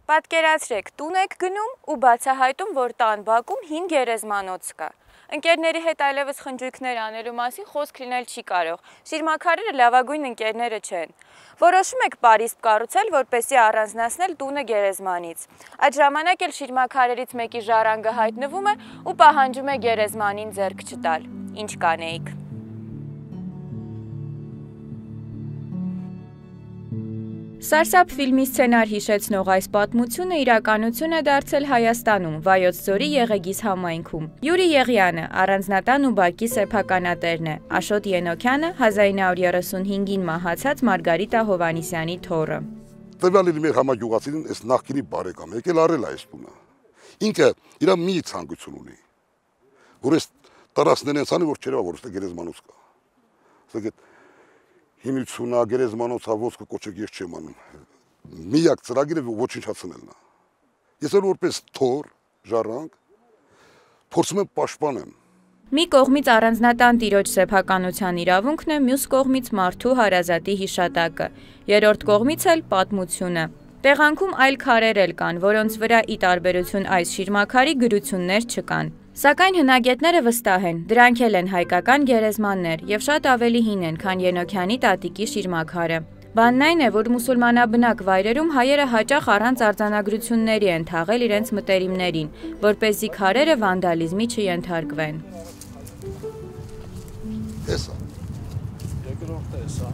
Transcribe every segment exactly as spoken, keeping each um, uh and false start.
Պատկերացրեք, տուն եք գնում ու բացահայտում, որ տան բակում հին գերեզմանոց կա։ Ընկերների հետ այլևս խնջույքներ անելու մասին խոսք լինել չի կարող։ Շիրմաքարերը լավագույն ընկերները չեն։ Որոշում եք պարիսպ կառուցել, որպեսզի առանձնացնել տունը գերեզմանից։ Այդ ժամանակ էլ շիրմաքարերից մեկի ժառանգը հայտնվում է ու պահանջում է գերեզմանին ձեռք չտալ։ Ինչ կանեիք։ Սարսափ ֆիլմի սցենար հիշեցնող այս պատմությունը իրականություն է դարձել Հայաստանում, Վայոց ձորի Եղեգիս համայնքում։ Յուրի Եղյանը առանձնատան ու բակի սեփականատերն է, Աշոտ Ենոքյանը հազար ինը հարյուր երեսունհինգին մահացած Մարգարիտա Հովհաննիսյանի թոռը։ Տվյալի մեր համագյուղացին այս նախկինի բարեկամ եկել արել այս տունը։ Ինքը իր մի ցանկություն ունի, որ այս տարածքներն ցանի որ չերևա որ ստե գերեզմանոց կա։ Ասեք հիմնությունա գերեզմանոցա ոսկե կոչեք ես չեմ անում։ Միակ ծրագիրը ոչնչացնելն է։ Ես էլ որպես թոռ, ժառանգ փորձում եմ պաշտպանեմ։ Մի կողմից առանձնատան տիրոջ սեփականության իրավունքն է, մյուս կողմից մարդու հարազատի հիշատակը, երրորդ կողմից էլ պատմությունը։ Տեղանքում այլ քարեր էլ կան, որոնց վրա ի տարբերություն այս շիրմաքարի գրություններ չկան։ Սակայն հնագետները վստահ են, դրանք էլ են հայկական գերեզմաններ եւ շատ ավելի հին են, քան Ենոքյանի տատիկի շիրմաքարը։ Բանն այն է, որ մուսուլմանաբնակ վայրերում հայերը հաճախ առանց արձանագրությունների են թաղել իրենց մտերիմներին, որպեսզի քարերը վանդալիզմի չենթարկվեն։ Էսա։ Երկրորդը էսա։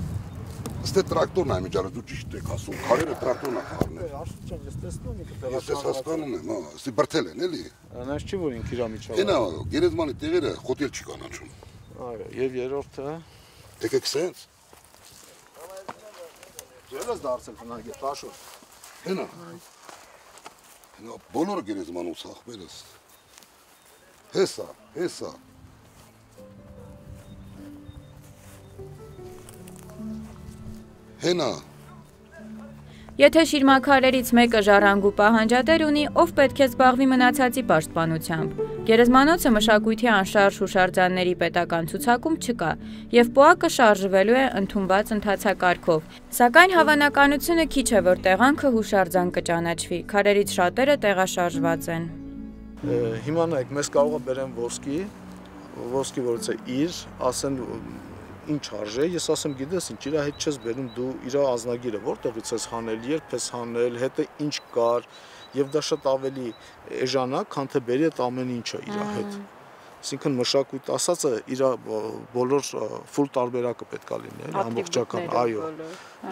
Ստե տրակտորն է միջարը դու ճիշտ եք ասում, քարերը տրակտորն է խառնել։ Արշություն ես տեսնում եք տեղաշարժ։ Ես հասկանում եմ, հա, ստի բրթել են, էլի։ Անաս չի որ ինքը իր միջավայրը։ Այնա գերեզմանի տեղերը խոտել չի կանաչում։ Այո, եւ երրորդը։ Եկեք սենց։ Ձեր ես դարձել հնագետ Աշոտ։ Այնա։ Այնա բոլորը գերեզմանոց ախպերս։ Հեսա, հեսա։ Հենա։ Եթե շիրմաքարերից մեկը ժառանգու պահանջատեր ունի, ով պետք է զբաղվի մնացածի պաշտպանությամբ։ Գերեզմանոցը մշակույթի անշարժ հուշարձանների պետական ցուցակում չկա, եւ պոակը շարժվելու է ընդունված ընթացակարգով։ Սակայն հավանականությունը քիչ է, որ տեղանքը հուշարձան կճանաչվի, քարերից շատերը տեղաշարժված են։ Հիմա նայեք, մեզ կարող է բերեն ոսկի, ոսկի որից է իր, ասեն ինչ արժե, ես ասեմ գիտես ինչ, իր հետ չես բերում դու իր անձնագիրը, որտեղից ես հանել, երբ ես հանել, հետը ինչ կար, եւ դա շատ ավելի էժան է, քան թե բերի այդ ամեն ինչը իր հետ։ Այսինքն մշակույթ ասածը իր բոլոր ֆուլ տարբերակը պետք է լինի, ամբողջական, այո։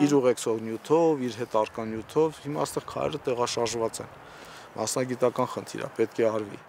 Իր ուղեկցող նյութով, իր հետ արկա նյութով, հիմա այստեղ քարերը տեղաշարժված են։ Մասնագիտական խնդիր է, պետք է արվի։